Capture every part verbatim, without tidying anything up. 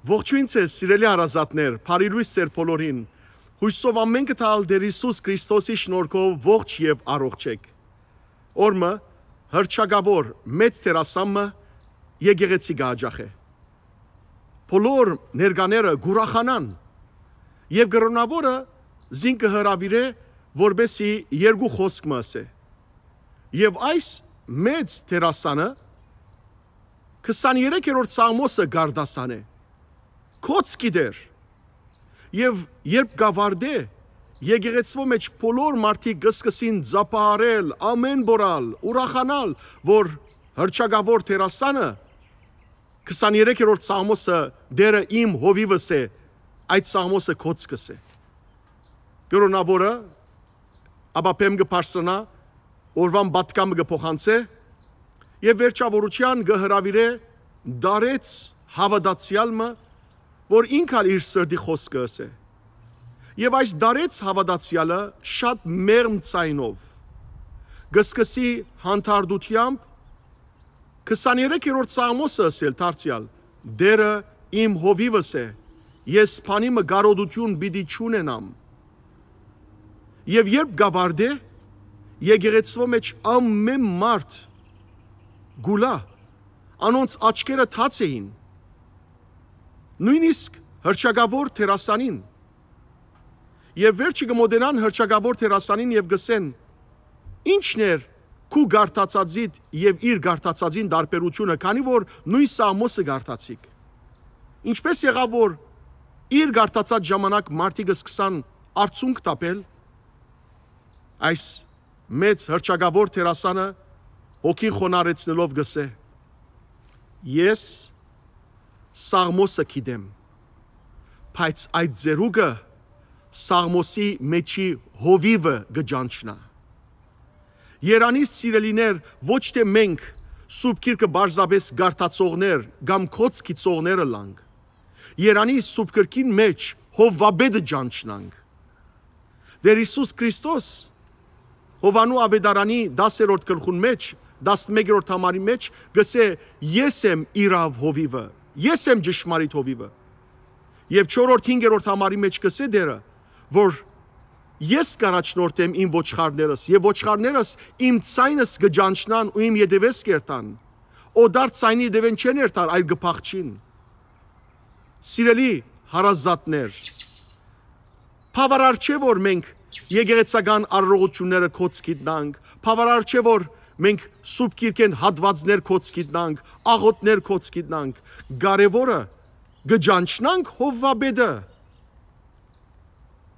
Ողջոյն ձեզ, սիրելի հարազատներ, բարի լոյս ձեր բոլորին։ Յուսով ամէնքը թալ Տեր Յիսուս Քրիստոսի շնորհքով ողջ եւ առողջ եք։ Օրմը հրճակաւոր մեծ դերասան մը եկեղեցի կը յաճախէ։ Բոլոր ներկաները կ'ուրախանան եւ կրօնաւորը զինք կը հրաւիրէ, որպեսզի երկու խօսք մը ըսէ։ Եւ այս մեծ դերասանը քսաներեքերորդ Սաղմոսը կ'արտասանէ, կոց գիտեր։ Եւ երբ կ'աւարտէ, եկեղեցւոյ մէջ բոլոր մարդիկ կը սկսին ծափահարել, ամէն պորալ, ուրախանալ, որ հրճակաւոր դերասանը քսաներեքերորդ Սաղմոսը «Տէրը իմ հովիվս է», այդ Սաղմոսը կոց կ'ըսէ։ Կրօնաւորը ապա բեմ կը բարձրանայ, օրուան պատգամը կը փոխանցէ եւ վերջաւորութեան կը հրաւիրէ տարեց հաւատացեալ մը, որ ինք ալ իր սրտի խօսքը ըսէ։ Եւ այս տարեց հաւատացեալը շատ մեղմ ձայնով կը սկսի հանդարտութեամբ քսաներեքերորդ Սաղմոսը ըսել դարձեալ. «Տէրը իմ հովիվս է, ես բանի մը կարօտութիւն պիտի չունենամ»։ Եւ երբ կ'աւարտէ, եկեղեցւոյ մէջ ամէն մարդ կ'ուլայ, անոնց աչքերը թաց էին, նոյնիսկ հրճակաւոր դերասանին։ Եւ վերջը կը մօտենան հրճակաւոր դերասանին եւ կ'ըսեն. «Ի՞նչն էր քու կարդացածիդ եւ իր կարդացածին տարբերութիւնը, քանի որ նոյն Սաղմոսը կարդացիք»։ Ինչպէս եղաւ, որ իր կարդացած ժամանակ մարդիկը սկսան արցունք տապել, այս մեծ հրճակաւոր դերասանը հոգին խոնարհեցնելով կ'ըսէ. «Ես Սաղմոսը գիտեմ, բայց այդ ձեռուկը Սաղմոսի մէջի հովիվը կը ճանչնայ»։ Երանի, սիրելիներ, ոչ թէ մենք Սուրբ Գիրքը պարզապէս կարդացողներ կամ կոց գիտցողներ ըլլանք։ Երանի, Սուրբ Գրքին մէջ հովուապետը ճանչնանք։ Տէր Յիսուս Քրիստոս Յովհաննու աւետարանի տասերորդ գլխուն մէջ, տասնմեկերորդ համարի մէջ կ'ըսէ. «Ես եմ իրաւ հովիվը, ես եմ ճշմարիտ հովիվը»։ Եւ չորրորդ, հինգերորդ համարի մէջ կ'ըսէ Տէրը, որ «Ես կ'առաջնորդեմ իմ ոչխարներս, եւ ոչխարներս իմ ձայնս կը ճանչնան ու իմ ետեւէս կ'երթան։ Օտար ձայնի ետեւէն չեն երթար, այլ կը փախչին»։ Սիրելի հարազատներ, բաւարար չէ, որ մենք եկեղեցական արարողութիւնները կոց գիտնանք, բաւարար չէ, որ մենք Սուրբ Գիրքէն հատուածներ կոց գիտնանք, աղօթքներ կոց գիտնանք։ Կարեւորը կը ճանչնանք հովուապետը։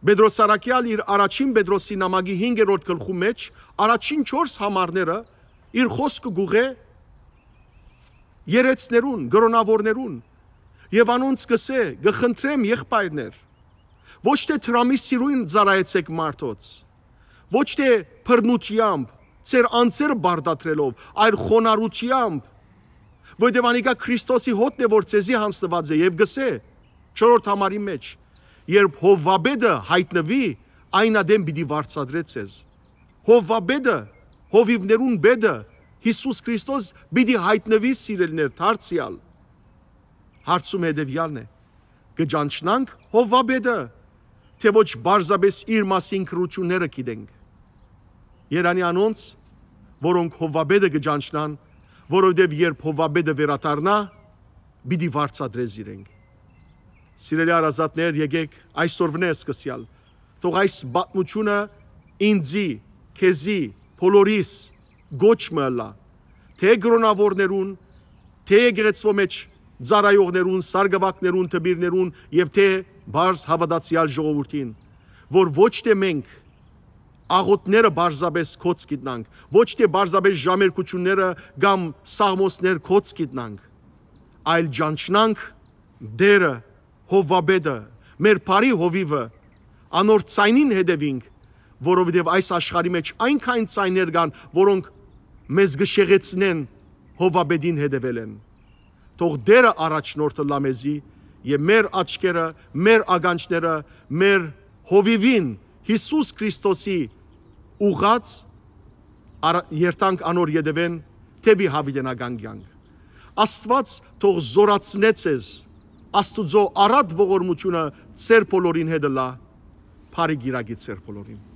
Պետրոս Առաքեալ իր առաջին Պետրոսի նամակի հինգերորդ գլխու մէջ առաջին չորս համարները իր խօսքը կ'ուղղէ երեցներուն, կրօնաւորներուն, եւ անոնց կ'ըսէ. «Կը խնդրեմ, եղբայրներ, ոչ թէ դրամի սիրոյն ծառայեցէք մարդոց, ոչ թէ բռնութեամբ, ձեր անձերը պարտադրելով, այլ խոնարհութեամբ, որովհետեւ անիկա Քրիստոսի հօտն է, որ ձեզի յանձնուած է»։ Եւ կ'ըսէ չորրորդ համարի մէջ. «Երբ հովուապետը յայտնուի, այն ատեն պիտի վարձատրէ ձեզ»։ Հովուապետը, հովիւներուն պետը, Յիսուս Քրիստոս պիտի յայտնուի, սիրելիներ, դարձեալ։ Հարցումը հետեւեալն է. կը ճանչնանք հովուապետը, թէ ոչ պարզապէս իր մասին գրութիւնները գիտենք։ Երանի անոնց, որոնք հովուապետը կը ճանչնան, որովհետեւ երբ հովուապետը վերադառնայ, պիտի վարձատրէ զիրենք։ Սիրելի հարազատներ, եկեք այսօրվնէ սկսեալ, թող այս պատմութիւնը ինծի, քեզի, բոլորիս կոչ մը ըլլայ, թէ կրօնաւորներուն, թէ եկեղեցւոյ մէջ ծառայողներուն, սարկուակներուն, դպիրներուն եւ թէ պարզ հաւատացեալ ժողովուրդին, որ ոչ թէ մենք աղօթքները պարզապէս կոց գիտնանք, ոչ թէ պարզապէս ժամերգութիւնները կամ սաղմոսներ կոց գիտնանք, այլ ճանչնանք Տէրը, հովուապետը, մեր բարի հովիվը, անոր ձայնին հետեւինք, որովհետեւ այս աշխարհի մէջ այնքան ձայներ կան, որոնք մեզ կը շեղեցնեն հովուապետին հետեւելէն։ Թող Տէրը առաջնորդ ըլլայ մեզի եւ մեր աչքերը, մեր ականջները, մեր հովիվին, Յիսուս Քրիստոսի ուղղած արա-, երթանք անոր ետեւէն դէպի յաւիտենական կեանք։ Աստուած թող զօրացնէ ձեզ Աստուծոյ առատ ողորմութիւնը ձեր բոլորին հետ ըլլայ։ Բարի կիրակի ձեր բոլորին։